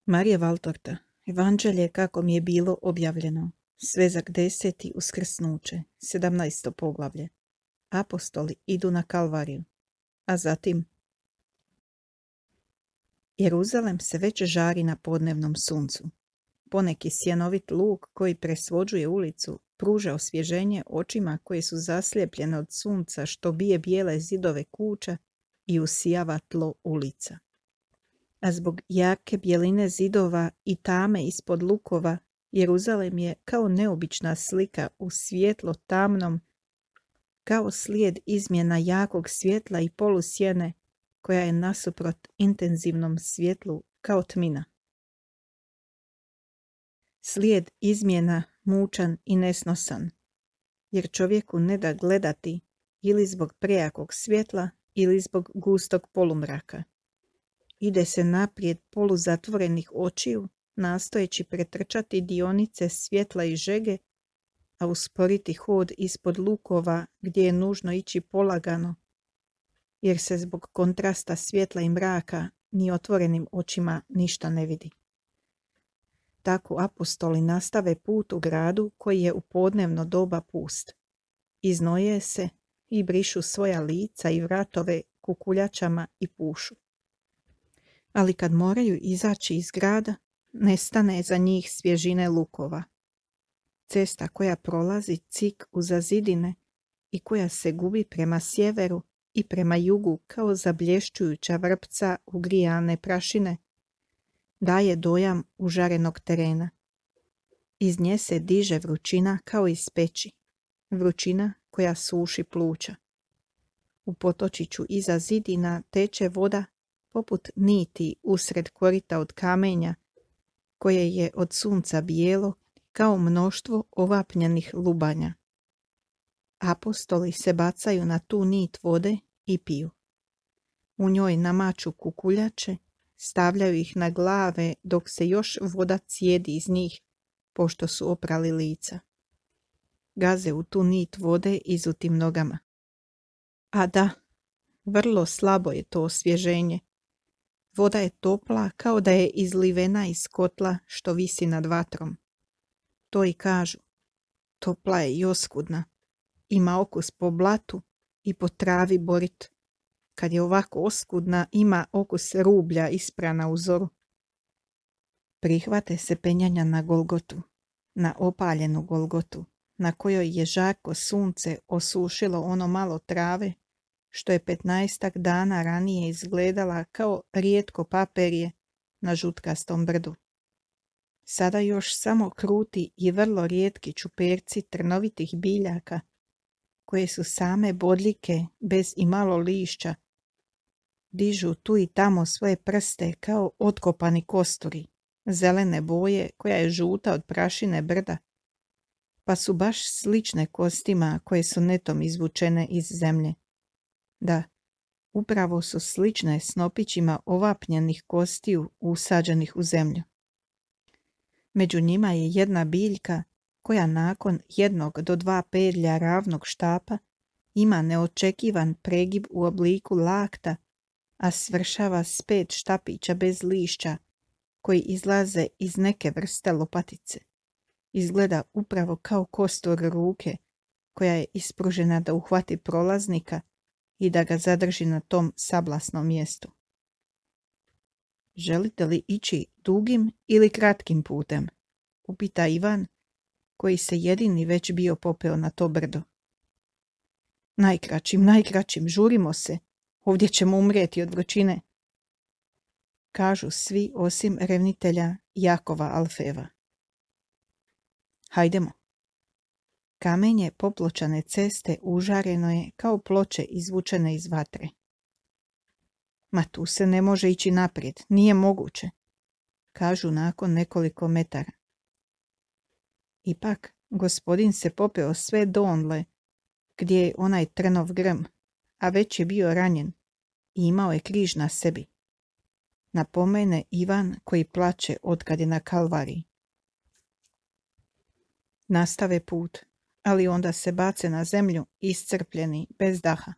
Marija Valtorta, Evanđelje kako mi je bilo objavljeno, svezak 10. uskrsnuće, 17. poglavlje. Apostoli idu na Kalvariju, a zatim Jeruzalem se već žari na podnevnom suncu. Poneki sjenovit luk koji presvođuje ulicu pruža osvježenje očima koje su zaslijepljene od sunca što bije bijele zidove kuća i usijava tlo ulica. A zbog jake bjeline zidova i tame ispod lukova, Jeruzalem je kao neobična slika u svjetlo tamnom, kao slijed izmjena jakog svjetla i polusjene koja je nasuprot intenzivnom svjetlu kao tmina. Slijed izmjena mučan i nesnosan, jer čovjeku ne da gledati ili zbog prejakog svjetla ili zbog gustog polumraka. Ide se naprijed poluzatvorenih očiju, nastojeći pretrčati dionice svjetla i žege, a usporiti hod ispod lukova gdje je nužno ići polagano, jer se zbog kontrasta svjetla i mraka ni otvorenim očima ništa ne vidi. Tako apostoli nastave put u gradu koji je u podnevno doba pust. Iznoje se i brišu svoja lica i vratove kukuljačama i pušu. Ali kad moraju izaći iz grada, nestane za njih svježine lukova. Cesta koja prolazi cik uza zidine i koja se gubi prema sjeveru i prema jugu kao zablješćujuća vrpca ugrijane prašine, daje dojam užarenog terena. Iz nje se diže vrućina kao iz peći, vrućina koja suši pluća. U potočiću iza zidina teče voda poput niti usred korita od kamenja, koje je od sunca bijelo kao mnoštvo ovapnjenih lubanja. Apostoli se bacaju na tu nit vode i piju. U njoj namaču kukuljače, stavljaju ih na glave dok se još voda cijedi iz njih, pošto su oprali lica. Gaze u tu nit vode izutim nogama. A da, vrlo slabo je to osvježenje. Voda je topla kao da je izlivena iz kotla što visi nad vatrom. To i kažu. Topla je i oskudna. Ima okus po blatu i po travi borit. Kad je ovako oskudna, ima okus rublja isprana u zoru. Prihvate se penjanja na Golgotu, na opaljenu Golgotu, na kojoj je žarko sunce osušilo ono malo trave, što je 15 dana ranije izgledala kao rijetko paperje na žutkastom brdu. Sada još samo kruti i vrlo rijetki čuperci trnovitih biljaka, koje su same bodljike bez imalo lišća, dižu tu i tamo svoje prste kao otkopani kosturi, zelene boje koja je žuta od prašine brda, pa su baš slične kostima koje su netom izvučene iz zemlje. Da, upravo su slične snopićima ovapnjenih kostiju usađenih u zemlju. Među njima je jedna biljka koja nakon 1 do 2 pedlja ravnog štapa ima neočekivan pregib u obliku lakta, a svršava s 5 štapića bez lišća koji izlaze iz neke vrste lopatice. Izgleda upravo kao kostur ruke koja je ispružena da uhvati prolaznika i da ga zadrži na tom sablasnom mjestu. Želite li ići dugim ili kratkim putem? Upita Ivan, koji se jedini već bio popeo na to brdo. Najkraćim, žurimo se, ovdje ćemo umrijeti od vrućine, kažu svi osim revnitelja Jakova Alfeva. Hajdemo. Kamenje popločane ceste užareno je kao ploče izvučene iz vatre. Ma tu se ne može ići naprijed, nije moguće, kažu nakon nekoliko metara. Ipak, gospodin se popeo sve donle, gdje je onaj trnov grm, a već je bio ranjen i imao je križ na sebi. Napomene Ivan koji plače otkad je na Kalvariji. Nastave put, ali onda se bace na zemlju iscrpljeni, bez daha.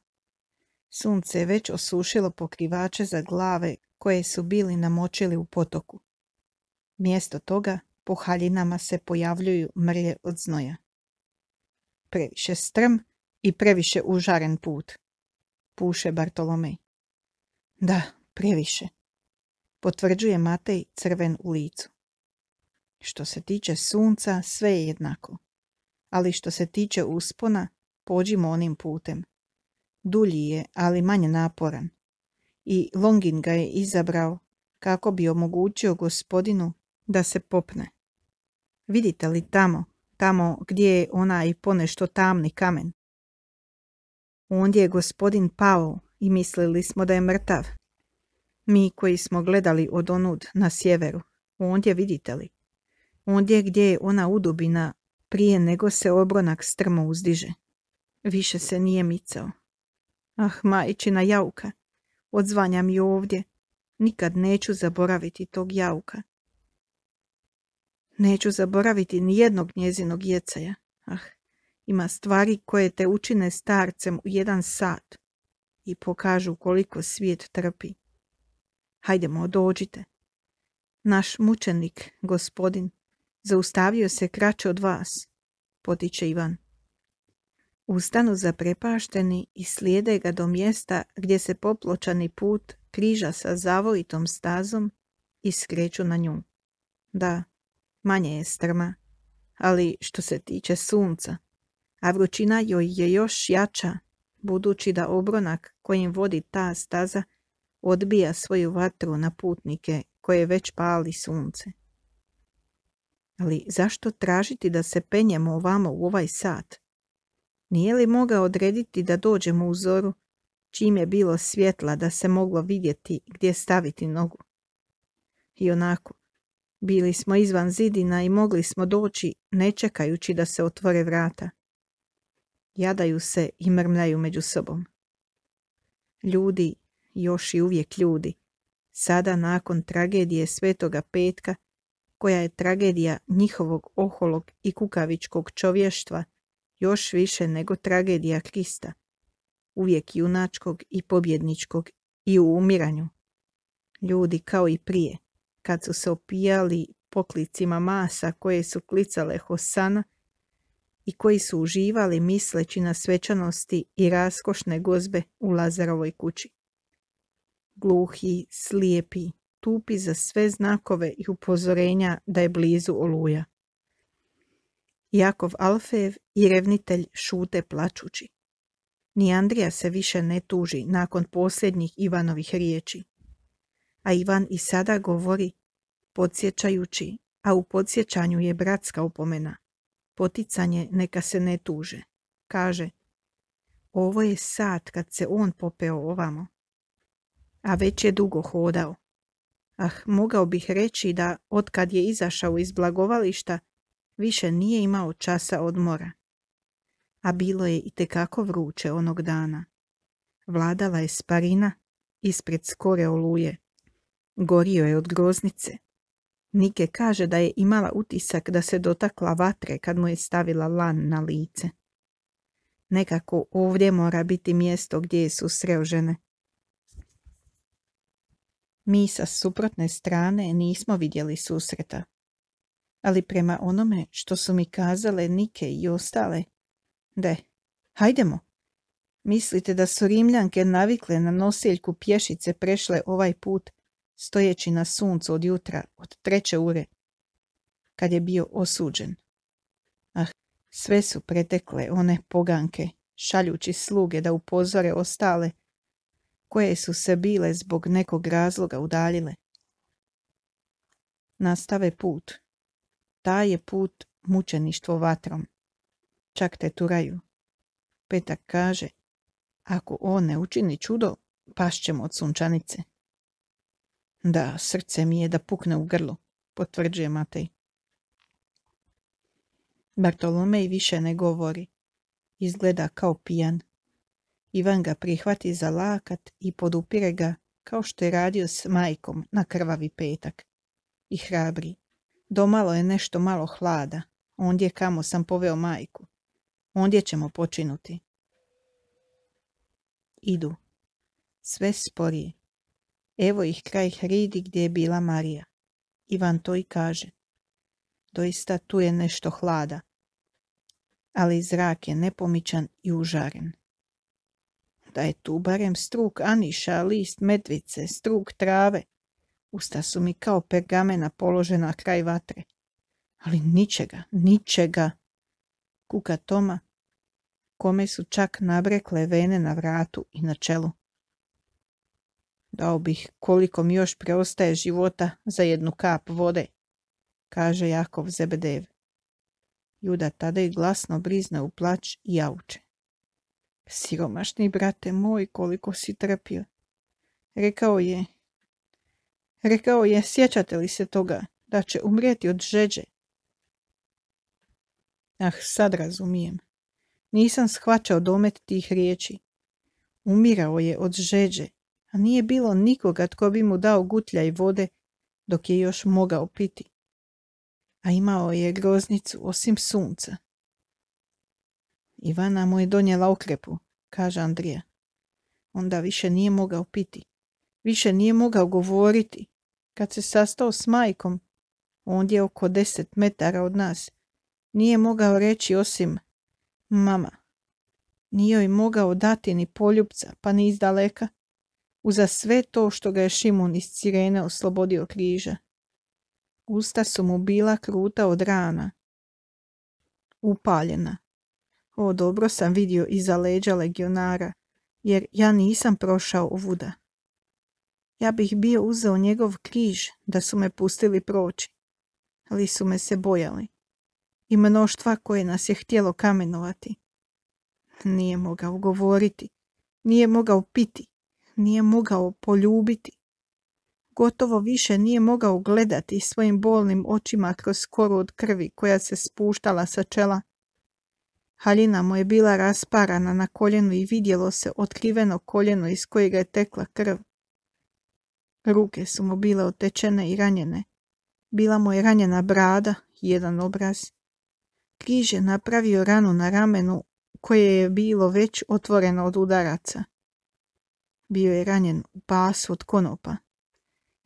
Sunce je već osušilo pokrivače za glave koje su bili namočili u potoku. Mjesto toga po haljinama se pojavljuju mrlje od znoja. Previše strm i previše užaren put, puše Bartolomej. Da, previše, potvrđuje Matej crven u licu. Što se tiče sunca, sve je jednako. Ali što se tiče uspona, pođimo onim putem. Dulji je, ali manje naporan. I Longin ga je izabrao kako bi omogućio gospodinu da se popne. Vidite li tamo gdje je onaj ponešto tamni kamen? Ondje je gospodin pao i mislili smo da je mrtav. Mi koji smo gledali od onud na sjeveru, ondje vidite li? Ondje gdje je ona udubina prije nego se obronak strmo uzdiže. Više se nije micao. Ah, majčina jauka, odzvanja mi ovdje. Nikad neću zaboraviti tog jauka. Neću zaboraviti ni jednog njezinog jecaja. Ah, ima stvari koje te učine starcem u 1 sat i pokažu koliko svijet trpi. Hajdemo, dođite. Naš mučenik, gospodin, zaustavio se kraće od vas, potiče Ivan. Ustanu zaprepašteni i slijede ga do mjesta gdje se popločani put križa sa zavojitom stazom i skreću na nju. Da, manje je strma, ali što se tiče sunca, a vrućina joj je još jača, budući da obronak kojim vodi ta staza odbija svoju vatru na putnike koje već pali sunce. Ali zašto tražiti da se penjemo ovamo u ovaj sat? Nije li mogao odrediti da dođemo u zoru, čim je bilo svjetla da se moglo vidjeti gdje staviti nogu? I onako, bili smo izvan zidina i mogli smo doći ne čekajući da se otvore vrata. Jadaju se i mrmljaju među sobom. Ljudi, još i uvijek ljudi, sada nakon tragedije Svetoga Petka, koja je tragedija njihovog oholog i kukavičkog čovještva, još više nego tragedija Krista, uvijek junačkog i pobjedničkog i u umiranju. Ljudi kao i prije, kad su se opijali poklicima masa koje su klicale Hosana i koji su uživali misleći na svečanosti i raskošne gozbe u Lazarovoj kući. Gluhi, slijepi, tupi za sve znakove i upozorenja da je blizu oluja. Jakov Alfejev i revnitelj šute plačući. Ni Andrija se više ne tuži nakon posljednjih Ivanovih riječi. A Ivan i sada govori, podsjećajući, a u podsjećanju je bratska upomena. Poticanje neka se ne tuže. Kaže, ovo je sat kad se on popeo ovamo. A već je dugo hodao. Ah, mogao bih reći da otkad je izašao iz blagovališta, više nije imao časa odmora. A bilo je itekako vruće onog dana. Vladala je sparina ispred skore oluje. Gorio je od groznice. Nike kaže da je imala utisak da se dotakla vatre kad mu je stavila lan na lice. Nekako ovdje mora biti mjesto gdje su sreo žene. Mi sa suprotne strane nismo vidjeli susreta. Ali prema onome što su mi kazale Nike i ostale, hajdemo. Mislite da su Rimljanke navikle na nosiljku pješice prešle ovaj put, stojeći na suncu od jutra, od 3. ure, kad je bio osuđen? Ah, sve su pretekle one poganke, šaljući sluge da upozore ostale, koje su se bile zbog nekog razloga udaljile. Nastave put. Taj je put mučeništvo vatrom. Čak te turaju. Petak kaže, ako on ne učini čudo, pašćemo od sunčanice. Da, srce mi je da pukne u grlu, potvrđuje Matej. Bartolomej više ne govori. Izgleda kao pijan. Ivan ga prihvati za lakat i podupire ga kao što je radio s majkom na krvavi petak. I hrabri. Domalo je nešto malo hlada. Ondje kamo sam poveo majku. Ondje ćemo počinuti. Idu. Sve sporije. Evo ih kraj hridi gdje je bila Marija. Ivan to i kaže. Doista tu je nešto hlada, ali zrak je nepomičan i užaren. Da je tu barem struk aniša, list medvice, struk trave. Usta su mi kao pergamena položena kraj vatre. Ali ničega, ničega. Kuka Toma, kome su čak nabrekle vene na vratu i na čelu. Dao bih koliko mi još preostaje života za jednu kap vode, kaže Jakov Zebedev. Juda tada i glasno brizne u plać i jauče. Siromašni brate moj, koliko si trpio. Rekao je, sjećate li se toga, da će umrijeti od žeđe? Ah, sad razumijem. Nisam shvaćao domet tih riječi. Umirao je od žeđe, a nije bilo nikoga tko bi mu dao gutljaj vode dok je još mogao piti. A imao je groznicu osim sunca. Ivana mu je donijela okrepu, kaže Andrija. Onda više nije mogao piti. Više nije mogao govoriti. Kad se sastao s majkom, ondje oko 10 metara od nas, nije mogao reći osim mama. Nije joj mogao dati ni poljupca, pa ni izdaleka, uza sve to što ga je Šimun iz Cirene oslobodio križa. Usta su mu bila kruta od rana, upaljena. O, dobro sam vidio iza leđa legionara, jer ja nisam prošao ovuda. Ja bih bio uzeo njegov križ da su me pustili proći, ali su me se bojali. I mnoštva koje nas je htjelo kamenovati. Nije mogao govoriti, nije mogao piti, nije mogao poljubiti. Gotovo više nije mogao gledati svojim bolnim očima kroz koru od krvi koja se spuštala sa čela. Haljina mu je bila rasparana na koljenu i vidjelo se otkriveno koljeno iz kojega je tekla krv. Ruke su mu bile otečene i ranjene. Bila mu je ranjena brada i jedan obraz. Križ je napravio ranu na ramenu koje je bilo već otvoreno od udaraca. Bio je ranjen u pasu od konopa.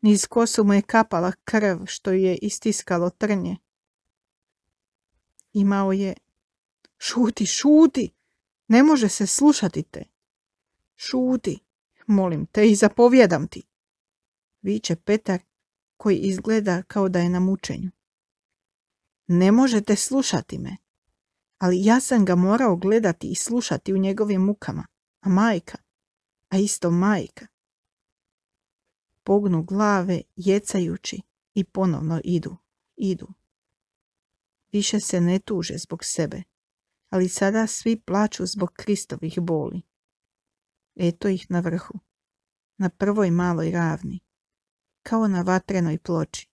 Niz kosu mu je kapala krv što je istiskalo trnje. Imao je... Šuti, šuti! Ne može se slušati te. Šuti, molim te i zapovjedam ti. Viče Petar koji izgleda kao da je na mučenju. Ne možete slušati me, ali ja sam ga morao gledati i slušati u njegovim mukama, a isto majka. Pognu glave jecajući i ponovno idu. Više se ne tuže zbog sebe, ali sada svi plaču zbog Kristovih boli. Eto ih na vrhu, na prvoj maloj ravni, kao na vatrenoj ploči.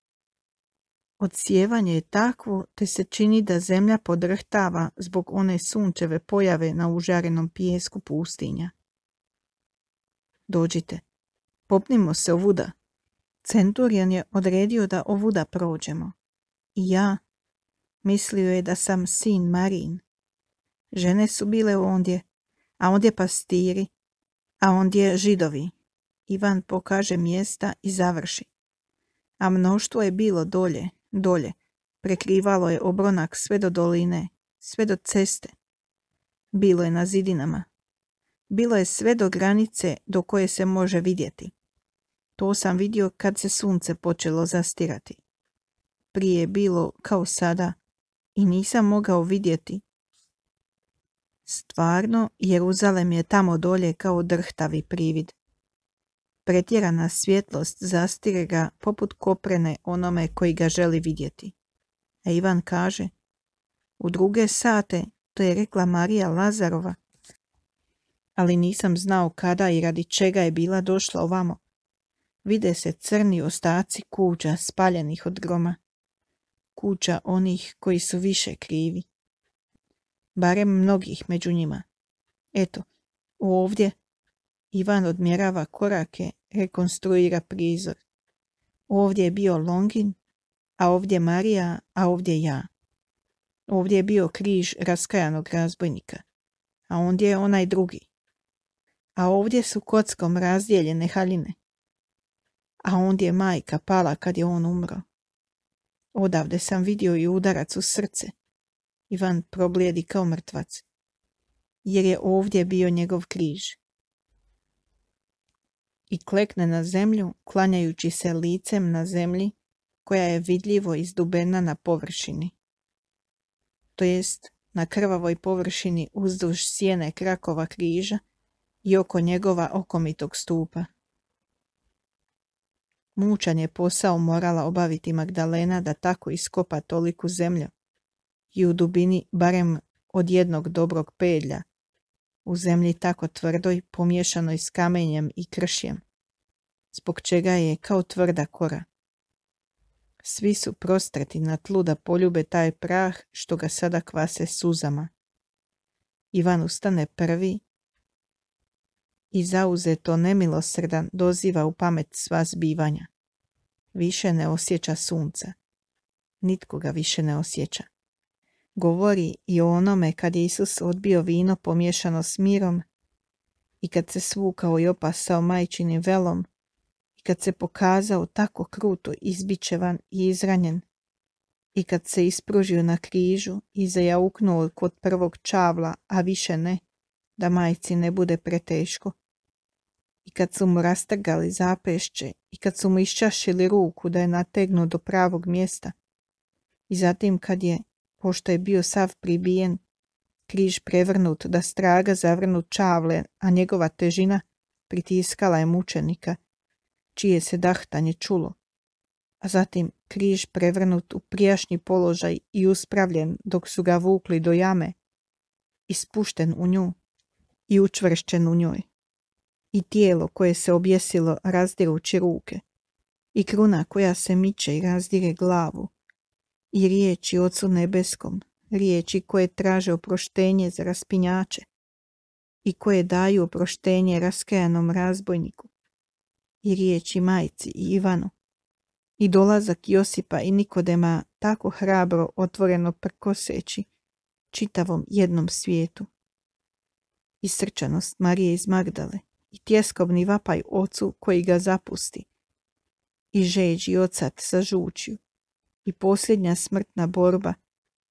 Odsijevanje je takvo te se čini da zemlja podrhtava zbog one sunčeve pojave na užarenom pijesku pustinja. Dođite, popnimo se ovuda. Centurion je odredio da ovuda prođemo. I ja, mislio je da sam sin Marin. Žene su bile ondje, a ondje pastiri, a ondje židovi. Ivan pokaže mjesta i završi. A mnoštvo je bilo dolje, prekrivalo je obronak sve do doline, sve do ceste. Bilo je na zidinama. Bilo je sve do granice do koje se može vidjeti. To sam vidio kad se sunce počelo zastirati. Prije je bilo kao sada i nisam mogao vidjeti. Stvarno, Jeruzalem je tamo dolje kao drhtavi privid. Pretjerana svjetlost zastire ga poput koprene onome koji ga želi vidjeti. A Ivan kaže, u 2 sate, to je rekla Marija Lazarova, ali nisam znao kada i radi čega je bila došla ovamo. Vide se crni ostaci kuća spaljenih od groma. Kuća onih koji su više krivi. Barem mnogih među njima. Eto, ovdje Ivan odmjerava korake, rekonstruira prizor. Ovdje je bio Longin, a ovdje Marija, a ovdje ja. Ovdje je bio križ raskajanog razbojnika, a ondje je onaj drugi. A ovdje su kockom razdijeljene haljine. A ondje je majka pala kad je on umro. Odavde sam vidio i udarac u srce. Ivan problijedi kao mrtvac, jer je ovdje bio njegov križ. I klekne na zemlju, klanjajući se licem na zemlji, koja je vidljivo izdubena na površini. To jest, na krvavoj površini uzduž sjene krakova križa i oko njegova okomitog stupa. Mučan je posao morala obaviti Magdalena da tako iskopa toliku zemlju i u dubini barem od jednog dobrog pedlja, u zemlji tako tvrdoj pomiješanoj s kamenjem i kršjem, zbog čega je kao tvrda kora. Svi su prostrati na tlu da poljube taj prah što ga sada kvase suzama. Ivan ustane prvi i zauzeto nemilosrdan doziva u pamet sva zbivanja. Više ne osjeća sunca. Nitko ga više ne osjeća. Govori i o onome kad je Isus odbio vino pomiješano s mirom i kad se svukao i opasao majčinim velom i kad se pokazao tako kruto izbičevan i izranjen i kad se ispružio na križu i zajauknuo kod prvog čavla, a više ne, da majci ne bude preteško. I kad su mu rastrgali zapešće i kad su mu iščašili ruku da je nategnu do pravog mjesta. I zatim kad je, pošto je bio sav pribijen, križ prevrnut da straga zavrnut čavle, a njegova težina pritiskala je mučenika, čije se dahtanje čulo. A zatim križ prevrnut u prijašnji položaj i uspravljen dok su ga vukli do jame, i spušten u nju i učvršćen u njoj. I tijelo koje se objesilo razdirući ruke, i kruna koja se miče i razdire glavu, i riječi Ocu nebeskom, riječi koje traže oproštenje za raspinjače, i koje daju oproštenje raskajanom razbojniku, i riječi majci i Ivanu, i dolazak Josipa i Nikodema tako hrabro otvoreno prkoseći čitavom jednom svijetu, i srčanost Marije iz Magdale, i tjeskobni vapaj ocu koji ga zapusti, i žeđ i ocat sa žučju, i posljednja smrtna borba,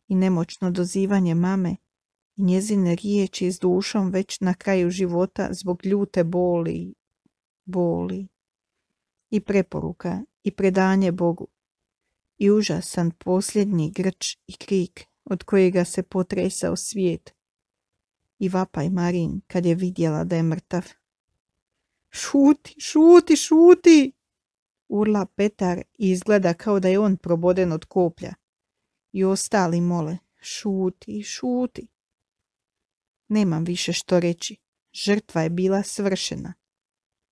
i nemoćno dozivanje mame, i njezine riječi s dušom već na kraju života zbog ljute boli, i preporuka, i predanje Bogu, i užasan posljednji grč i krik od kojega se potresao svijet, i vapaj Marin kad je vidjela da je mrtav. Šuti, šuti, šuti! Urla Petar i izgleda kao da je on proboden od koplja. I ostali mole, šuti, šuti. Nemam više što reći. Žrtva je bila svršena.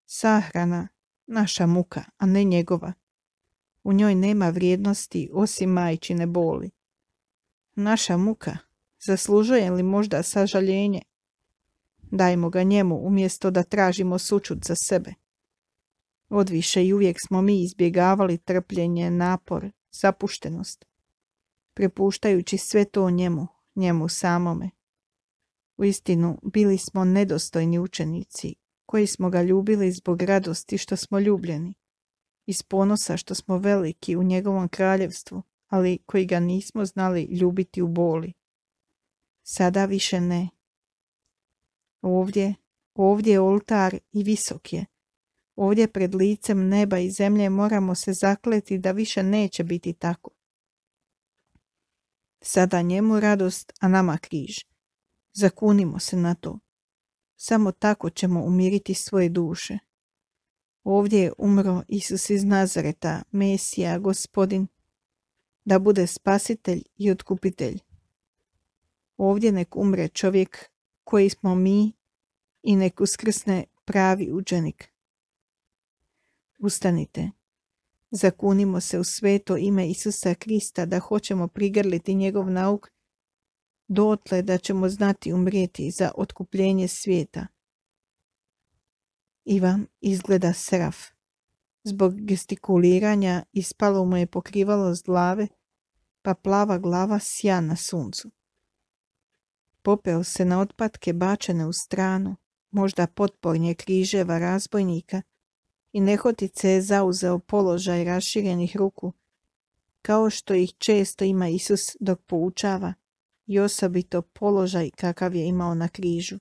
Sahrana, naša muka, a ne njegova. U njoj nema vrijednosti osim majčine boli. Naša muka, zaslužuje li možda sažaljenje? Dajmo ga njemu umjesto da tražimo sućut za sebe. Odviše i uvijek smo mi izbjegavali trpljenje, napor, zapuštenost, prepuštajući sve to njemu samome. Uistinu, bili smo nedostojni učenici, koji smo ga ljubili zbog radosti što smo ljubljeni, iz ponosa što smo veliki u njegovom kraljevstvu, ali koji ga nismo znali ljubiti u boli. Sada više ne. Ovdje je oltar i visok je. Ovdje pred licem neba i zemlje moramo se zakleti da više neće biti tako. Sada njemu radost, a nama križ. Zakunimo se na to. Samo tako ćemo umiriti svoje duše. Ovdje je umro Isus iz Nazareta, Mesija, Gospodin, da bude spasitelj i otkupitelj. Ovdje nek umre čovjek koji smo mi i nek uskrsne pravi učenik. Ustanite. Zakunimo se u sveto ime Isusa Krista da hoćemo prigrliti njegov nauk dotle da ćemo znati umrijeti za otkupljenje svijeta. Ivan izgleda seraf. Zbog gestikuliranja ispalo mu je pokrivalo s glave, pa plava glava sja na suncu. Popeo se na otpatke bačene u stranu, možda potpornje križeva razbojnika, i nehotice je zauzeo položaj raširenih ruku, kao što ih često ima Isus dok poučava, i osobito položaj kakav je imao na križu.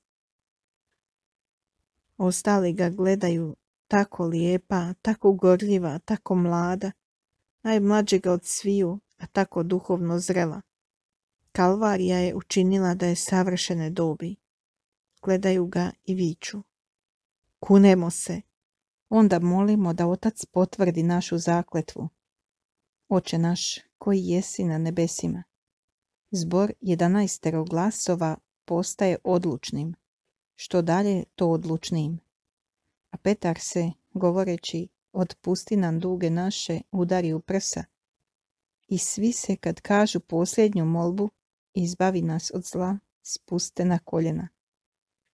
Ostali ga gledaju tako lijepa, tako gorljiva, tako mlada, najmlađega od sviju, a tako duhovno zrela. Kalvarija je učinila da je savršene dobi. Gledaju ga i viču. Kunemo se. Onda molimo da Otac potvrdi našu zakletvu. Oče naš, koji jesi na nebesima. Zbor 11 glasova postaje odlučnim. Što dalje, to odlučnijim. A Petar se, govoreći, otpusti nam duge naše, udari u prsa. I svi se, kad kažu posljednju molbu, izbavi nas od zla, spuste na koljena.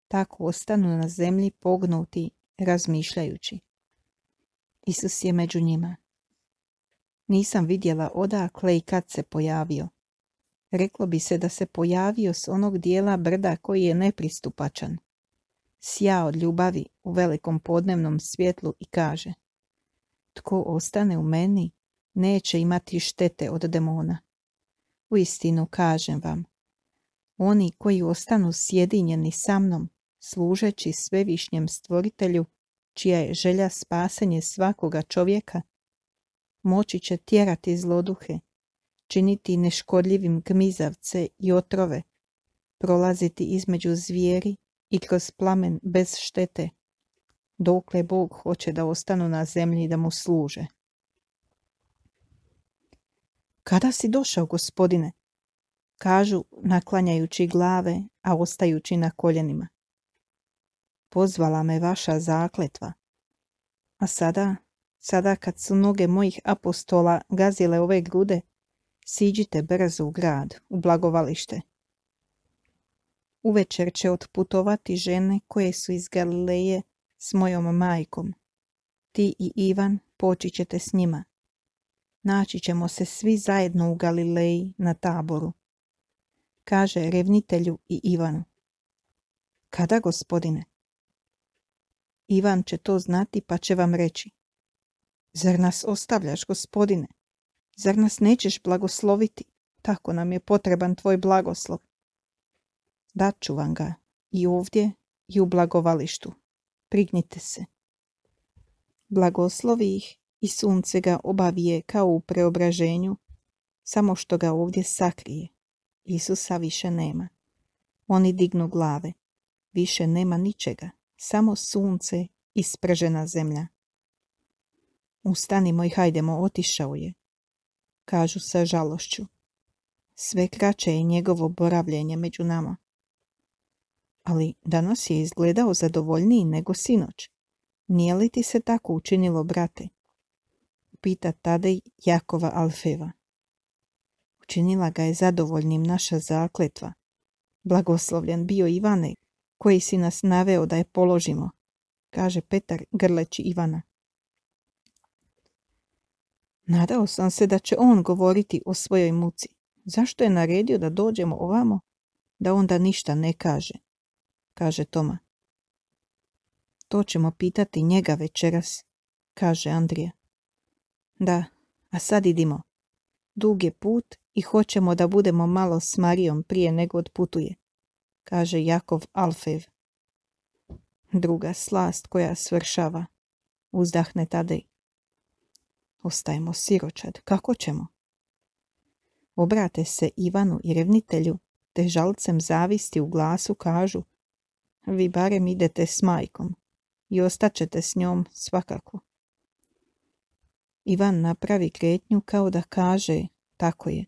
Tako ostanu na zemlji pognuti, razmišljajući. Isus je među njima. Nisam vidjela odakle i kad se pojavio. Reklo bi se da se pojavio s onog dijela brda koji je nepristupačan. Sja od ljubavi u velikom podnevnom svjetlu i kaže: tko ostane u meni, neće imati štete od demona. Uistinu kažem vam, oni koji ostanu sjedinjeni sa mnom, služeći svevišnjem stvoritelju, čija je želja spasenje svakoga čovjeka, moći će tjerati zloduhe, činiti neškodljivim gmizavce i otrove, prolaziti između zvijeri i kroz plamen bez štete, dokle Bog hoće da ostanu na zemlji da mu služe. Kada si došao, Gospodine? Kažu, naklanjajući glave, a ostajući na koljenima. Pozvala me vaša zakletva. A sada kad su noge mojih apostola gazile ove grude, siđite brzo u grad, u blagovalište. Uvečer će otputovati žene koje su iz Galileje s mojom majkom. Ti i Ivan poći ćete s njima. Naći ćemo se svi zajedno u Galileji na Taboru. Kaže revnitelju i Ivanu. Kada, Gospodine? Ivan će to znati pa će vam reći. Zar nas ostavljaš, Gospodine? Zar nas nećeš blagosloviti? Tako nam je potreban tvoj blagoslov. Daću vam ga i ovdje i u blagovalištu. Prignite se. Blagoslovi ih i sunce ga obavije kao u preobraženju, samo što ga ovdje sakrije. Isusa više nema. Oni dignu glave. Više nema ničega, samo sunce i spržena zemlja. Ustanimo i hajdemo, otišao je, kažu sa žalošću. Sve kraće je njegovo boravljenje među nama. Ali danas je izgledao zadovoljniji nego sinoć. Nije li ti se tako učinilo, brate? Pita Tadej Jakova Alfeva. Učinila ga je zadovoljnim naša zakletva. Blagoslovljen bio Ivane, koji si nas naveo da je položimo, kaže Petar grleći Ivana. Nadao sam se da će on govoriti o svojoj muci. Zašto je naredio da dođemo ovamo, da onda ništa ne kaže, kaže Toma. To ćemo pitati njega večeras, kaže Andrija. Da, a sad idimo. Dug je put i hoćemo da budemo malo s Marijom prije nego odputuje, kaže Jakov Alfev. Druga slast koja svršava, uzdahne Tadej. Ostajemo siročad, kako ćemo? Obrate se Ivanu i revnitelju, te žalcem zavisti u glasu kažu: vi barem idete s majkom i ostaćete s njom svakako. Ivan napravi kretnju kao da kaže: tako je,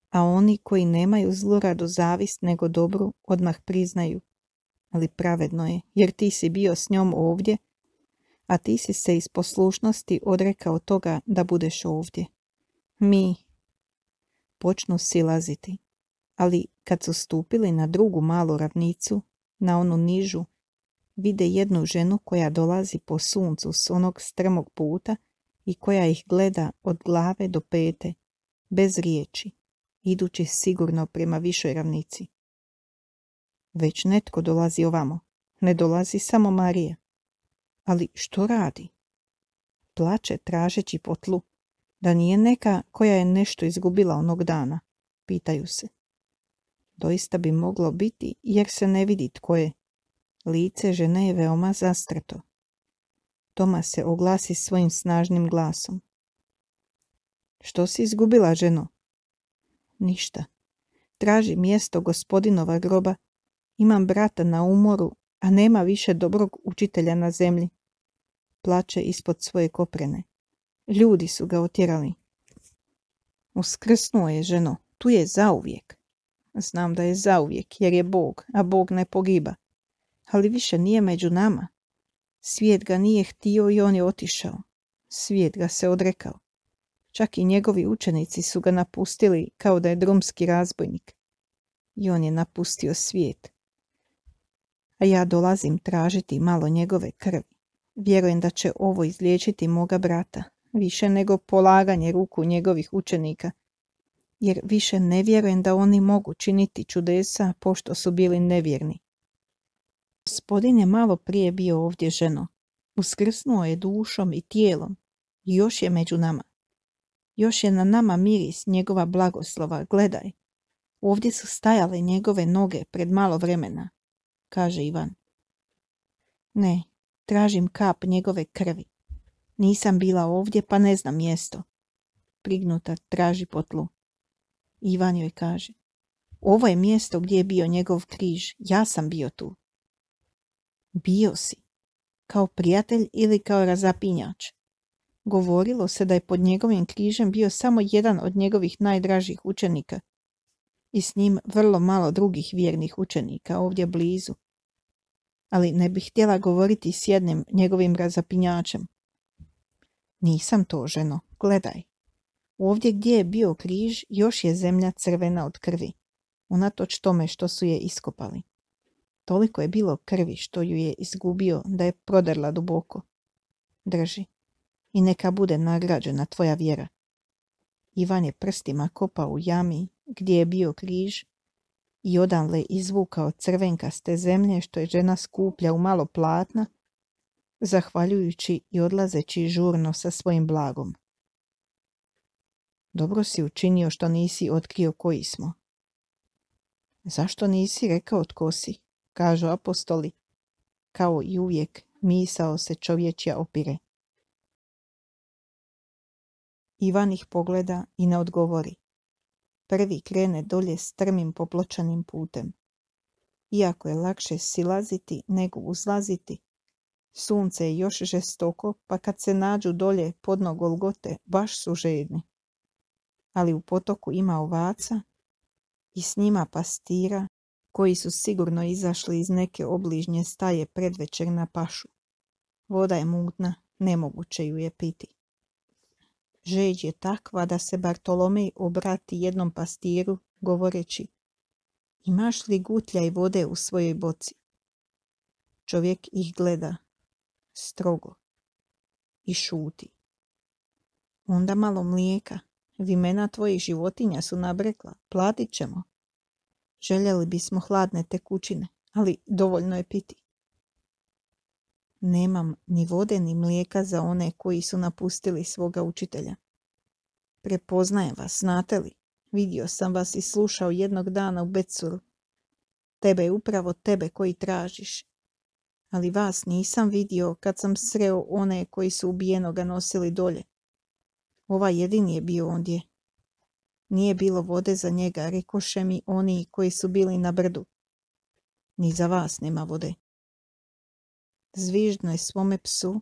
a oni koji nemaju zluradu zavist nego dobru odmah priznaju: ali pravedno je, jer ti si bio s njom ovdje, a ti si se iz poslušnosti odrekao toga da budeš ovdje. Mi počnu silaziti, ali kad su stupili na drugu malu ravnicu, na onu nižu, vide jednu ženu koja dolazi po suncu s onog strmog puta i koja ih gleda od glave do pete, bez riječi, idući sigurno prema višoj ravnici. Već netko dolazi ovamo, ne dolazi samo Marija. Ali što radi? Plače tražeći po tlu. Da nije neka koja je nešto izgubila onog dana, pitaju se. Doista bi moglo biti jer se ne vidi tko je. Lice žene je veoma zastreto. Toma se oglasi svojim snažnim glasom. Što si izgubila, ženo? Ništa. Traži mjesto gospodinova groba. Imam brata na umoru, a nema više dobrog učitelja na zemlji. Plače ispod svoje koprene. Ljudi su ga otjerali. Uskrsnuo je, ženo, tu je zauvijek. Znam da je zauvijek, jer je Bog, a Bog ne pogiba. Ali više nije među nama. Svijet ga nije htio i on je otišao. Svijet ga se odrekao. Čak i njegovi učenici su ga napustili kao da je drumski razbojnik. I on je napustio svijet. A ja dolazim tražiti malo njegove krvi. Vjerujem da će ovo izliječiti moga brata, više nego polaganje ruku njegovih učenika, jer više ne vjerujem da oni mogu činiti čudesa pošto su bili nevjerni. Gospodin je malo prije bio ovdje, ženo. Uskrsnuo je dušom i tijelom i još je među nama. Još je na nama miris njegova blagoslova, gledaj. Ovdje su stajale njegove noge pred malo vremena, kaže Ivan. Ne, tražim kap njegove krvi. Nisam bila ovdje pa ne znam mjesto. Prignuta traži po tlu. Ivan joj kaže. Ovo je mjesto gdje je bio njegov križ. Ja sam bio tu. Bio si. Kao prijatelj ili kao razapinjač. Govorilo se da je pod njegovim križem bio samo jedan od njegovih najdražih učenika i s njim vrlo malo drugih vjernih učenika ovdje blizu. Ali ne bih htjela govoriti s jednim njegovim razapinjačem. Nisam to, ženo, gledaj. Ovdje gdje je bio križ još je zemlja crvena od krvi, unatoč tome što su je iskopali. Toliko je bilo krvi što ju je izgubio da je prodrla duboko. Drži. I neka bude nagrađena tvoja vjera. Ivan je prstima kopao u jami gdje je bio križ i odanle izvukao crvenkaste zemlje što je žena skuplja u malo platna, zahvaljujući i odlazeći žurno sa svojim blagom. Dobro si učinio što nisi otkrio koji smo. Zašto nisi rekao tko si, kažu apostoli. Kao i uvijek misao se čovječja opire. Ivan ih pogleda i ne odgovori. Prvi krene dolje strmim popločanim putem. Iako je lakše silaziti nego uzlaziti, sunce je još žestoko, pa kad se nađu dolje podno Golgote, baš su žedni. Ali u potoku ima ovaca i s njima pastira koji su sigurno izašli iz neke obližnje staje predvečer na pašu. Voda je mutna, nemoguće ju je piti. Žeđ je takva da se Bartolomej obrati jednom pastiru, govoreći: imaš li gutlja i vode u svojoj boci? Čovjek ih gleda strogo i šuti. Onda malo mlijeka, vimena tvojih životinja su nabrekla, platit ćemo. Željeli bismo hladne tekućine, ali dovoljno je piti. Nemam ni vode ni mlijeka za one koji su napustili svoga učitelja. Prepoznajem vas, znate li? Vidio sam vas i slušao jednog dana u Becuru. Tebe je upravo tebe koji tražiš. Ali vas nisam vidio kad sam sreo one koji su ubijenoga nosili dolje. Ovaj jedini je bio ondje. Nije bilo vode za njega, rekoše mi oni koji su bili na brdu. Ni za vas nema vode. Zviždno je svome psu,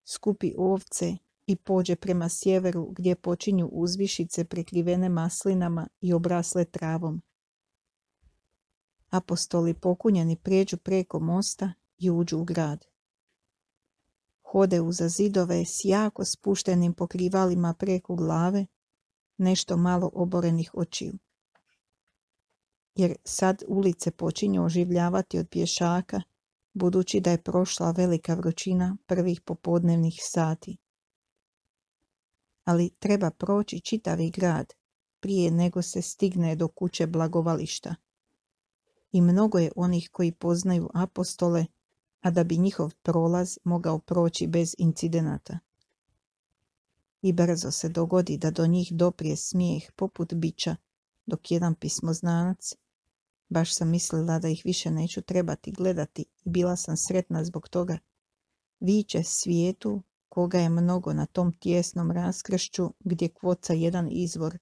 skupi ovce i pođe prema sjeveru gdje počinju uzvišice prekrivene maslinama i obrasle travom. Apostoli pokunjeni prijeđu preko mosta i uđu u grad. Hode uza zidove s jako spuštenim pokrivalima preko glave, nešto malo oborenih očiju. Jer sad ulice počinju oživljavati od pješaka, budući da je prošla velika vrućina prvih popodnevnih sati. Ali treba proći čitavi grad prije nego se stigne do kuće blagovališta. I mnogo je onih koji poznaju apostole, a da bi njihov prolaz mogao proći bez incidenata. i brzo se dogodi da do njih doprije smijeh poput bića, dok jedan pismoznanac, baš sam mislila da ih više neću trebati gledati i bila sam sretna zbog toga, viče svijetu koga je mnogo na tom tijesnom raskršću gdje kvoca jedan izvor.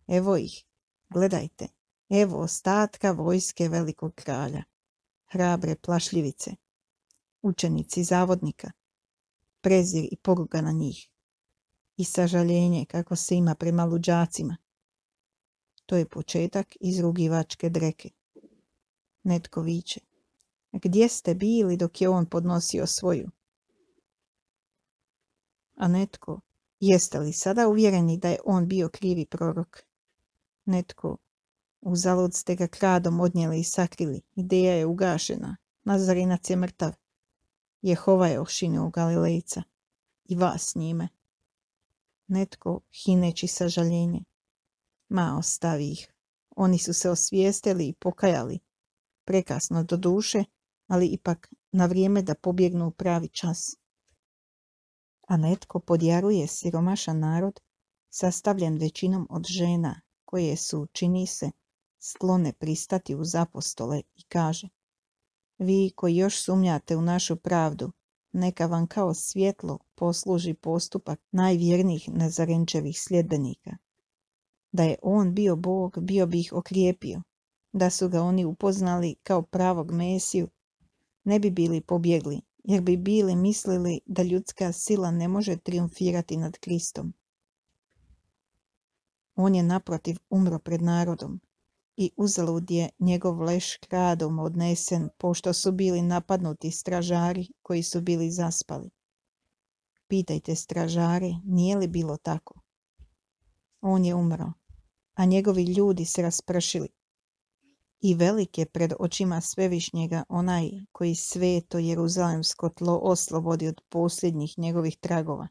Evo ih, gledajte, evo ostatka vojske velikog kralja, hrabre plašljivice, učenici zavodnika, prezir i poruga na njih i sažaljenje kako se ima prema luđacima. To je početak izrugivačke dreke. Netko viče, gdje ste bili dok je on podnosio svoju? A netko, jeste li sada uvjereni da je on bio krivi prorok? Netko, uzalud ste ga kradom odnijeli i sakrili, ideja je ugašena, Nazarinac je mrtav, Jehova je ošinuo Galilejca i vas s njime. Netko, hineći sažaljenje, ma ostavi ih, oni su se osvijestili i pokajali, prekasno do duše, ali ipak na vrijeme da pobjegnu u pravi čas. A netko podjaruje siromašan narod, sastavljen većinom od žena, koje su, čini se, sklone pristati uz apostole i kaže: vi koji još sumnjate u našu pravdu, neka vam kao svjetlo posluži postupak najvjernijih Nazarenčevih sljedbenika. Da je on bio Bog, bio bi ih okrijepio. Da su ga oni upoznali kao pravog Mesiju, ne bi bili pobjegli, jer bi bili mislili da ljudska sila ne može triumfirati nad Kristom. On je naprotiv umro pred narodom i uzalud je njegov leš kradom odnesen, pošto su bili napadnuti stražari koji su bili zaspali. Pitajte stražare, nije li bilo tako? On je umro, a njegovi ljudi se raspršili. I velik je pred očima Svevišnjega onaj koji sveto Jeruzalemsko tlo oslobodi od posljednjih njegovih tragova,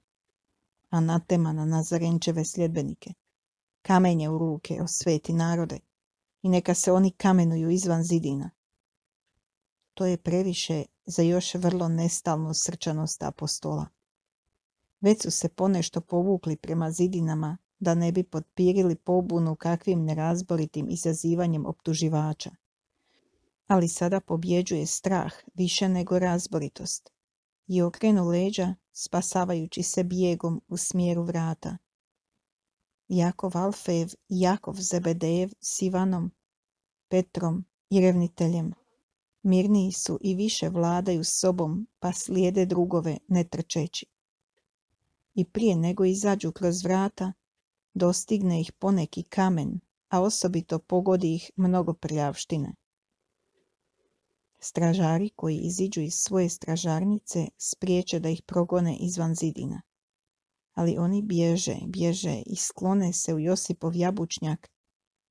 anatema na Nazarenčeve sljedbenike. Kamenje u ruke, o sveti narode, i neka se oni kamenuju izvan zidina. To je previše za još vrlo nestalnu srčanost apostola. Već su se ponešto povukli prema zidinama da ne bi potpirili pobunu kakvim nerazboritim izazivanjem optuživača. Ali sada pobjeđuje strah više nego razboritost i okrenu leđa, spasavajući se bijegom u smjeru vrata. Jakov Alfejev i Jakov Zebedejev s Ivanom, Petrom i revniteljem mirniji su i više vladaju sobom, pa slijede drugove ne trčeći. I prije nego izađu kroz vrata, dostigne ih poneki kamen, a osobito pogodi ih mnogo prljavštine. Stražari koji iziđu iz svoje stražarnice spriječe da ih progone izvan zidina. Ali oni bježe i sklone se u Josipov jabučnjak,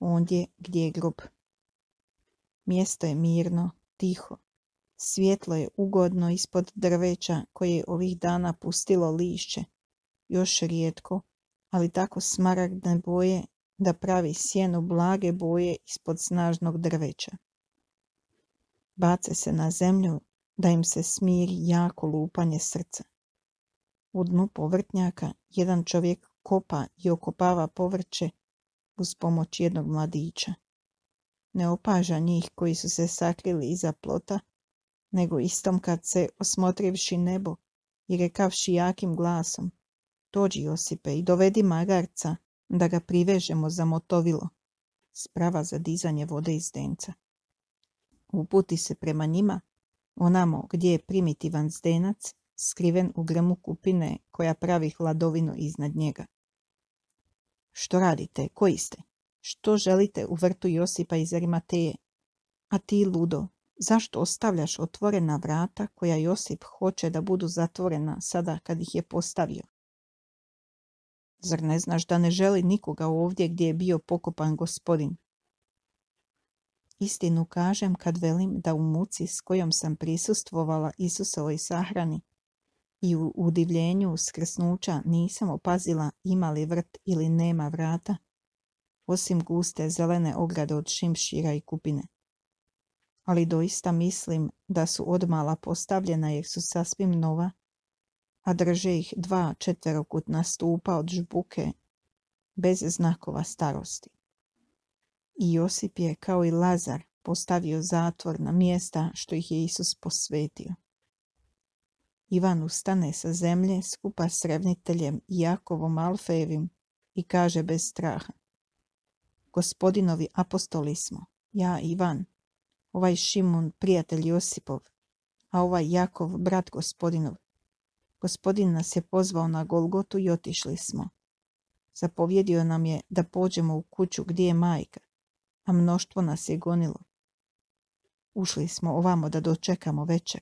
ondje gdje je grob. Mjesto je mirno, tiho. Svjetlo je ugodno ispod drveća koje je ovih dana pustilo lišće, još rijetko, ali tako smaragdne boje da pravi sjenu blage boje ispod snažnog drveća. Bace se na zemlju da im se smiri jako lupanje srca. U dnu povrtnjaka jedan čovjek kopa i okopava povrće uz pomoć jednog mladića. Ne opaža njih koji su se sakrili iza plota, nego istom kad se, osmotrivši nebo i rekavši jakim glasom: dođi Josipe i dovedi magarca da ga privežemo za motovilo, sprava za dizanje vode iz zdenca. Uputi se prema njima, onamo gdje je primitivan zdenac, skriven u grmu kupine koja pravi hladovinu iznad njega. Što radite? Koji ste? Što želite u vrtu Josipa iz Arimateje? A ti, ludo, zašto ostavljaš otvorena vrata koja Josip hoće da budu zatvorena sada kad ih je postavio? Zar ne znaš da ne želi nikoga ovdje gdje je bio pokopan Gospodin? Istinu kažem kad velim da u muci s kojom sam prisustvovala Isusovoj sahrani i u udivljenju uskrsnuća nisam opazila ima li vrt ili nema vrata, osim guste zelene ograde od šimšira i kupine. Ali doista mislim da su odmala postavljena jer su sasvim nova, a drže ih 2 četverokutna stupa od žbuke bez znakova starosti. I Josip je, kao i Lazar, postavio zatvor na mjesta što ih je Isus posvetio. Ivan ustane sa zemlje skupa s revniteljem Jakovom Alfejevim i kaže bez straha: Gospodinovi apostoli smo, ja Ivan, ovaj Šimun prijatelj Josipov, a ovaj Jakov brat Gospodinov. Gospodin nas je pozvao na Golgotu i otišli smo. Zapovjedio nam je da pođemo u kuću gdje je majka, a mnoštvo nas je gonilo. Ušli smo ovamo da dočekamo večer.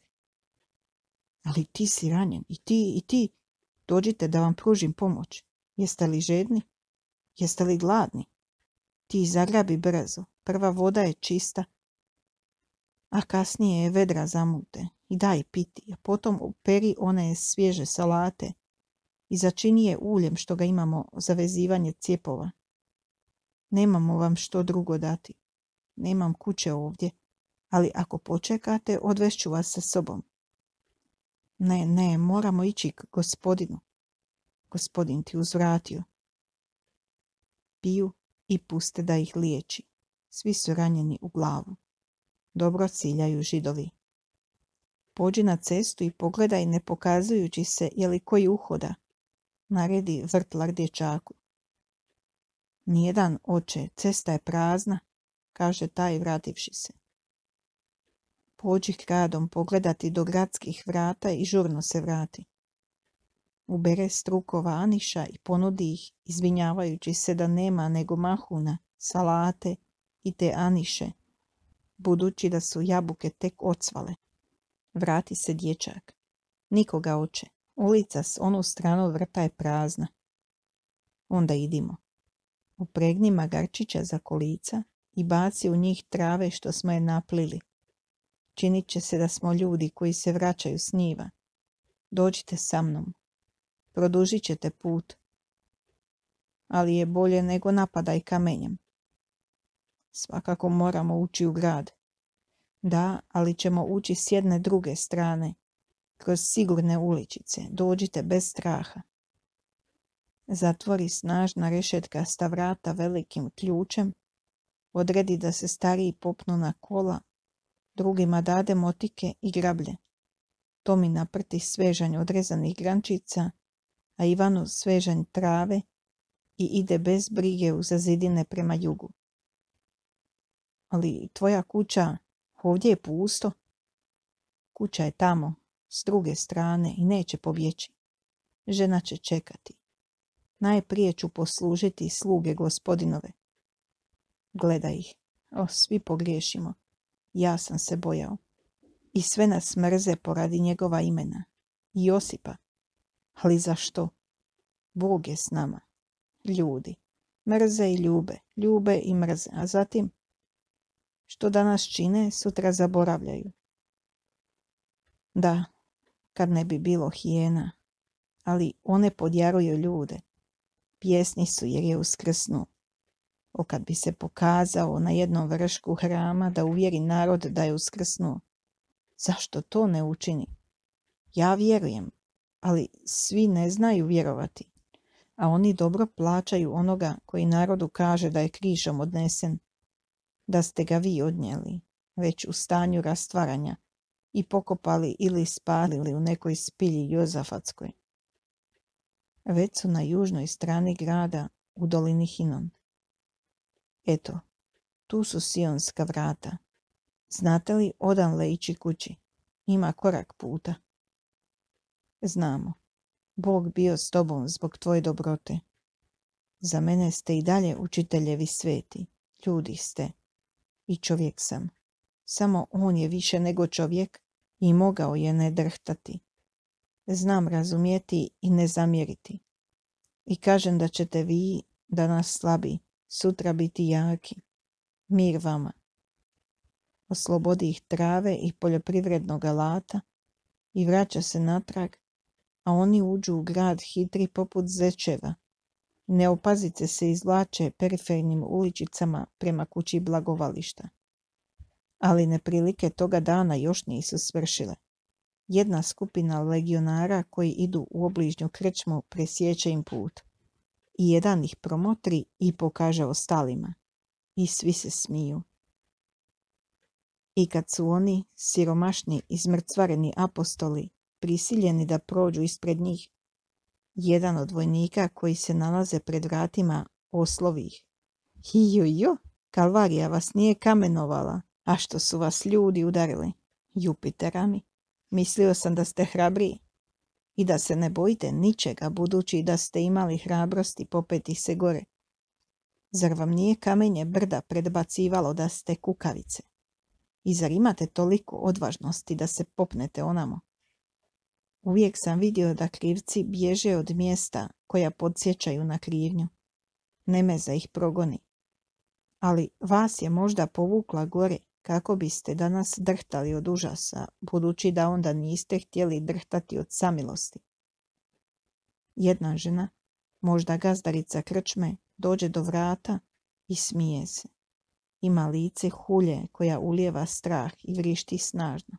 Ali ti si ranjen, i ti, dođite da vam pružim pomoć. Jeste li žedni? Jeste li gladni? Ti zagrabi brzo, prva voda je čista, a kasnije je vedra zamute, i daj piti, a potom operi one svježe salate i začini je uljem što ga imamo za vezivanje cijepova. Nemamo vam što drugo dati. Nemam kuće ovdje, ali ako počekate, odvešću vas sa sobom. Ne, moramo ići k Gospodinu. Gospodin ti uzvratio. Piju i puste da ih liječi. Svi su ranjeni u glavu. Dobro ciljaju Židovi. Pođi na cestu i pogledaj, ne pokazujući se, je li koji uhoda, naredi vrtlar dječaku. Nijedan, oče, cesta je prazna, kaže taj vrativši se. Pođi kradom pogledati do gradskih vrata i žurno se vrati. Ubere strukova aniša i ponudi ih, izvinjavajući se da nema nego mahuna, salate i te aniše, budući da su jabuke tek ocvale. Vrati se dječak. Nikoga, oče. Ulica s onu stranu vrta je prazna. Onda idimo. Upregni magarčića za kolica i baci u njih trave što smo je naplili. Činit će se da smo ljudi koji se vraćaju s njiva. Dođite sa mnom. Produžit ćete put. Ali je bolje nego napadaj kamenjem. Svakako moramo ući u grad. Da, ali ćemo ući s jedne druge strane, kroz sigurne uličice. Dođite bez straha. Zatvori snažna rešetkasta vrata velikim ključem, odredi da se stariji popnu na kola, drugima dade motike i grablje. Tomi naprti svežanj odrezanih grančica, a Ivanu svežanj trave i ide bez brige u zazidine prema jugu. Ali tvoja kuća, ovdje je pusto. Kuća je tamo, s druge strane, i neće pobjeći. Žena će čekati. Najprije ću poslužiti sluge Gospodinove. Gledaj ih. Svi pogriješimo. Ja sam se bojao. I sve nas mrze poradi njegova imena. I Josipa. Ali zašto? Bog je s nama. Ljudi. Mrze i ljube. Ljube i mrze. A zatim, što danas čine, sutra zaboravljaju. Da, kad ne bi bilo hijena. Ali one podjaruju ljude. Pjesni su jer je uskrsnuo. Kad bi se pokazao na jednom vršku hrama da uvjeri narod da je uskrsnuo. Zašto to ne učini? Ja vjerujem, ali svi ne znaju vjerovati, a oni dobro plaćaju onoga koji narodu kaže da je križom odnesen, da ste ga vi odnijeli, već u stanju rastvaranja, i pokopali ili spalili u nekoj spilji Jozafatskoj. Već su na južnoj strani grada, u dolini Hinon. Eto, tu su Sionska vrata. Znate li odanle ići kući? Ima korak puta. Znamo. Bog bio s tobom zbog tvoje dobrote. Za mene ste i dalje učiteljevi sveti. Ljudi ste. I čovjek sam. Samo on je više nego čovjek i mogao je ne drhtati. Znam razumjeti i ne zamjeriti. I kažem da ćete vi, danas slabi, sutra biti jaki. Mir vama. Oslobodi ih trave i poljoprivrednog alata i vraća se natrag, a oni uđu u grad hitri poput zečeva. Neopazice se izvlače perifernim uličicama prema kući blagovališta. Ali neprilike toga dana još nisu svršile. Jedna skupina legionara koji idu u obližnju krčmu presjeće im put. I jedan ih promotri i pokaže ostalima. I svi se smiju. I kad su oni, siromašni i zmrcvareni apostoli, prisiljeni da prođu ispred njih, jedan od vojnika koji se nalaze pred vratima oslovi ih. Hijo, Kalvarija vas nije kamenovala, a što su vas ljudi udarili? Jupitera mi, mislio sam da ste hrabriji i da se ne bojite ničega, budući da ste imali hrabrosti popeti se gore. Zar vam nije kamenje brda predbacivalo da ste kukavice? I zar imate toliko odvažnosti da se popnete onamo? Uvijek sam vidio da krivci bježe od mjesta koja podsjećaju na krivnju. Nemeza ih progoni. Ali vas je možda povukla gore kako biste danas drhtali od užasa, budući da onda niste htjeli drhtati od samilosti. Jedna žena, možda gazdarica krčme, dođe do vrata i smije se. Ima lice hulje koja ulijeva strah i vrišti snažno.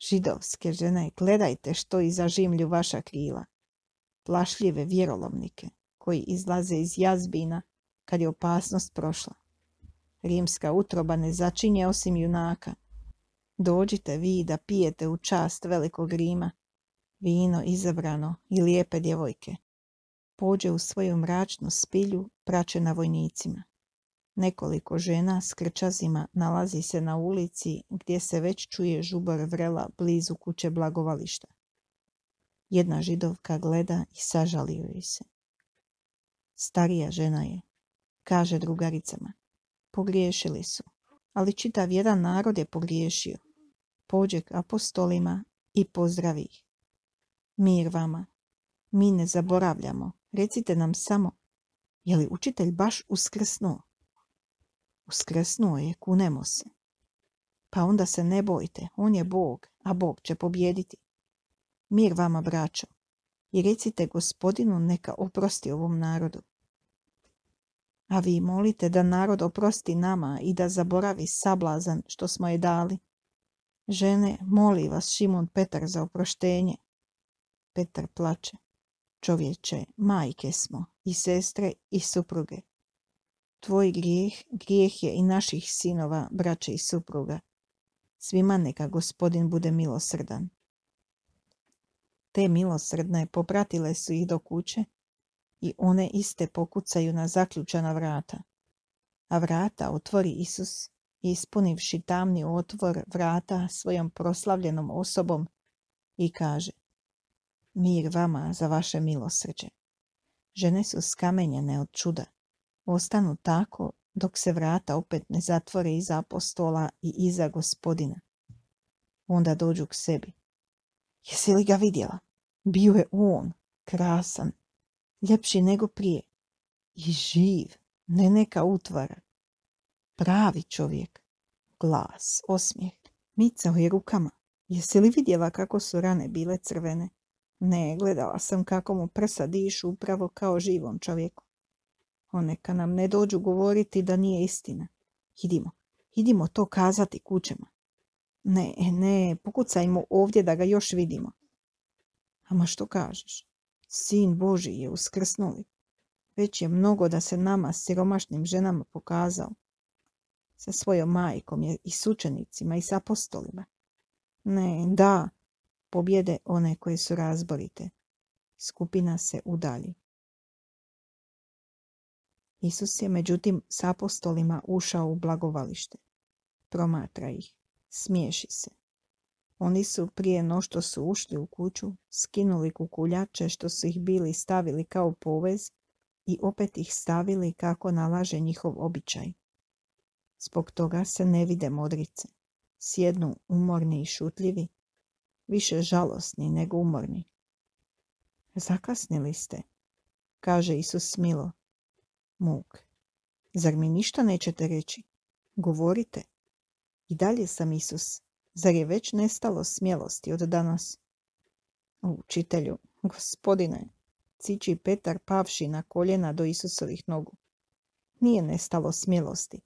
Židovske žene, gledajte što iza žimlju vaša krila. Plašljive vjerolomnike koji izlaze iz jazbina kad je opasnost prošla. Rimska utroba ne začinje osim junaka. Dođite vi da pijete u čast velikog Rima, vino izabrano i lijepe djevojke. Pođe u svoju mračnu spilju praćena vojnicima. Nekoliko žena s krčazima nalazi se na ulici gdje se već čuje žubor vrela blizu kuće blagovališta. Jedna Židovka gleda i sažalio joj se. Starija žena je, kaže drugaricama. Pogriješili su, ali čitav jedan narod je pogriješio. Pođe k apostolima i pozdravi ih. Mir vama, mi ne zaboravljamo, recite nam samo, je li učitelj baš uskrsnuo? Uskrsnuo je, kunemo se. Pa onda se ne bojte, on je Bog, a Bog će pobjediti. Mir vama, braćo, i recite Gospodinu neka oprosti ovom narodu. A vi molite da narod oprosti nama i da zaboravi sablazan što smo je dali. Žene, moli vas Šimun Petar za oproštenje. Petar plače. Čovječe, majke smo, i sestre i supruge. Tvoj grijeh je i naših sinova, braće i supruga. Svima neka Gospodin bude milosrdan. Te milosrdne popratile su ih do kuće i one iste pokucaju na zaključana vrata. A vrata otvori Isus, ispunivši tamni otvor vrata svojom proslavljenom osobom i kaže: Mir vama za vaše milosrđe. Žene su skamenjene od čuda. Ostanu tako dok se vrata opet ne zatvore iza apostola i iza Gospodina. Onda dođu k sebi. Jesi li ga vidjela? Bio je on, krasan, ljepši nego prije. I živ, ne neka utvara. Pravi čovjek. Glas, osmijeh. Micao je rukama. Jesi li vidjela kako su rane bile crvene? Ne, gledala sam kako mu prsa dišu upravo kao živom čovjeku. Neka nam ne dođu govoriti da nije istina. Idimo to kazati kućama. Ne, pokucajmo ovdje da ga još vidimo. Ama što kažeš? Sin Božji je uskrsnuli. Već je mnogo da se nama, siromašnim ženama, pokazao. Sa svojom majkom je i s učenicima i s apostolima. Ne, da, pobjede one koje su razborite. Skupina se udalji. Isus je međutim s apostolima ušao u blagovalište. Promatra ih, smiješi se. Oni su prije no što su ušli u kuću, skinuli kukuljače što su ih bili stavili kao povez i opet ih stavili kako nalaže njihov običaj. Zbog toga se ne vide modrice. Sjednu umorni i šutljivi, više žalosni nego umorni. Zakasnili ste, kaže Isus milo. Muk, zar mi ništa nećete reći? Govorite. I dalje sam Isus. Zar je već nestalo smjelosti od danas? Učitelju, Gospodine, ciči Petar pavši na koljena do Isusovih nogu. Nije nestalo smjelosti,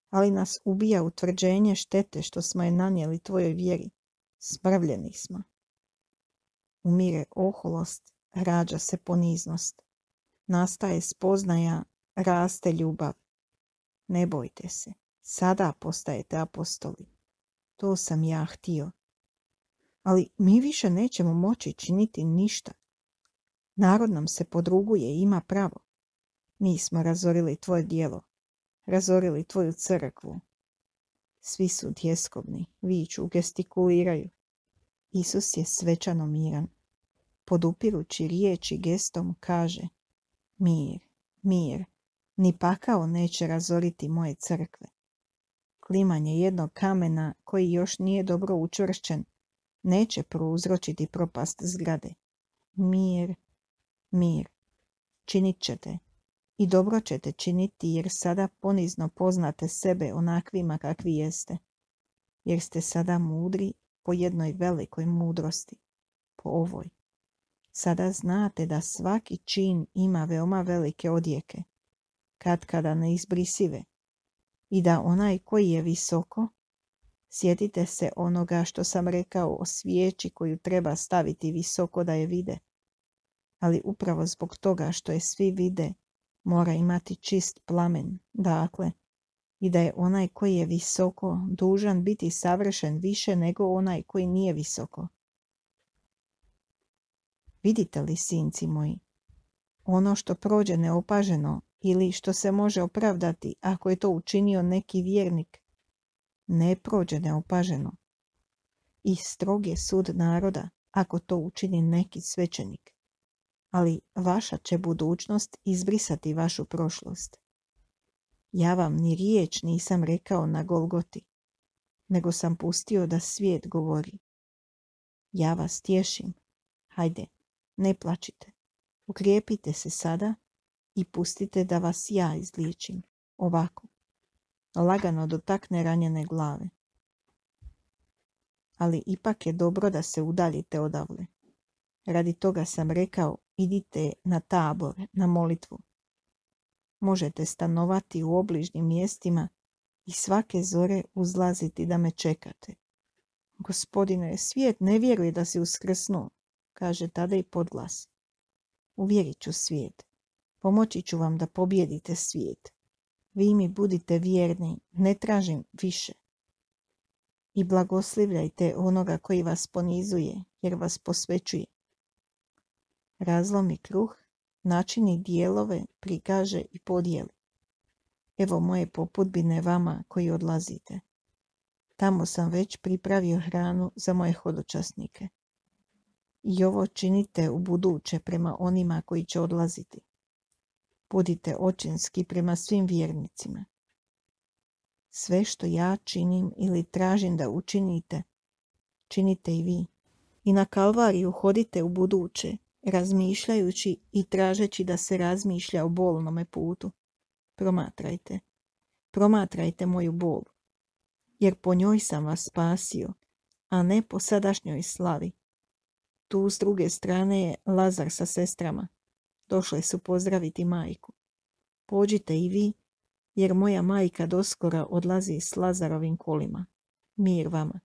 ali nas ubija utvrđenje štete što smo je nanijeli tvojoj vjeri. Smrvljeni smo. Umire oholost, rađa se poniznost. Nastaje spoznaja, raste ljubav. Ne bojte se, sada postajete apostoli. To sam ja htio. Ali mi više nećemo moći činiti ništa. Narod nam se podruguje i ima pravo. Mi smo razorili tvoje djelo, razorili tvoju crkvu. Svi su tjeskobni, viču, gestikuliraju. Isus je svečano miran. Podupirući riječi gestom kaže: mir, mir, ni pakao neće razoriti moje crkve. Klimanje jednog kamena koji još nije dobro učvršćen neće prouzročiti propast zgrade. Mir, mir, činit ćete i dobro ćete činiti jer sada ponizno poznate sebe onakvima kakvi jeste. Jer ste sada mudri po jednoj velikoj mudrosti, po ovoj. Sada znate da svaki čin ima veoma velike odjeke, katkada neizbrisive, i da onaj koji je visoko, sjetite se onoga što sam rekao o svijeći koju treba staviti visoko da je vide, ali upravo zbog toga što je svi vide, mora imati čist plamen, dakle, i da je onaj koji je visoko dužan biti savršen više nego onaj koji nije visoko. Vidite li, sinci moji, ono što prođe neopaženo ili što se može opravdati ako je to učinio neki vjernik, ne prođe neopaženo. I strog je sud naroda ako to učini neki svećenik. Ali vaša će budućnost izbrisati vašu prošlost. Ja vam ni riječ nisam rekao na Golgoti, nego sam pustio da svijet govori. Ja vas tješim. Hajde, ne plačite. Ukrijepite se sada i pustite da vas ja izliječim. Ovako. Lagano dotakne ranjene glave. Ali ipak je dobro da se udaljite odavle. Radi toga sam rekao, idite na Tabor, na molitvu. Možete stanovati u obližnjim mjestima i svake zore uzlaziti da me čekate. Gospodine, svijet ne vjeruje da si uskrsnuo, kaže tada i podglas. Uvjerit ću svijet. Pomoći ću vam da pobijedite svijet. Vi mi budite vjerni, ne tražim više. I blagoslivljajte onoga koji vas ponizuje, jer vas posvećuje. Razlomi kruh, načini dijelove, prikaže i podijeli. Evo moje popudbine vama koji odlazite. Tamo sam već pripravio hranu za moje hodočasnike. I ovo činite u buduće prema onima koji će odlaziti. Budite očinski prema svim vjernicima. Sve što ja činim ili tražim da učinite, činite i vi. I na Kalvariju hodite u buduće, razmišljajući i tražeći da se razmišlja o bolnome putu. Promatrajte. Promatrajte moju bol. Jer po njoj sam vas spasio, a ne po sadašnjoj slavi. Tu s druge strane je Lazar sa sestrama. Došle su pozdraviti majku. Pođite i vi, jer moja majka doskora odlazi s Lazarovim kolima. Mir vama.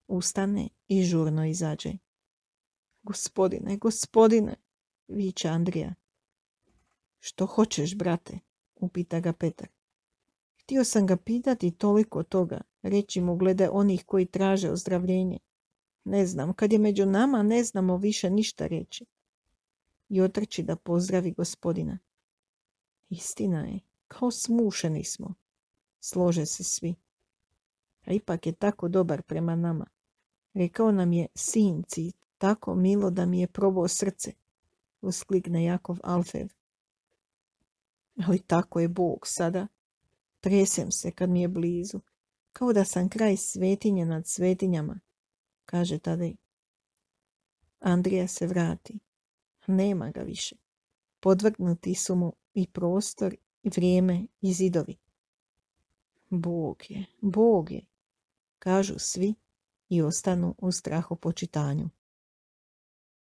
Ustane i žurno izađe. Gospodine, gospodine, viče Andrija. Što hoćeš, brate? Upita ga Petar. Htio sam ga pitati toliko toga, reći mu glede onih koji traže ozdravljenje. Ne znam, kad je među nama, ne znamo više ništa reći. I otrči da pozdravi gospodina. Istina je, kao smušeni smo. Slože se svi. A ipak je tako dobar prema nama. Rekao nam je, sinci, tako milo da mi je probao srce, usklikne Jakov Alfev. Ali tako je Bog sada. Tresem se kad mi je blizu, kao da sam kraj svetinje nad svetinjama, kaže Tadej. Andrija se vrati. Nema ga više. Podvrgnuti su mu i prostor, i vrijeme, i zidovi. Bog je, kažu svi i ostanu u strahopočitanju.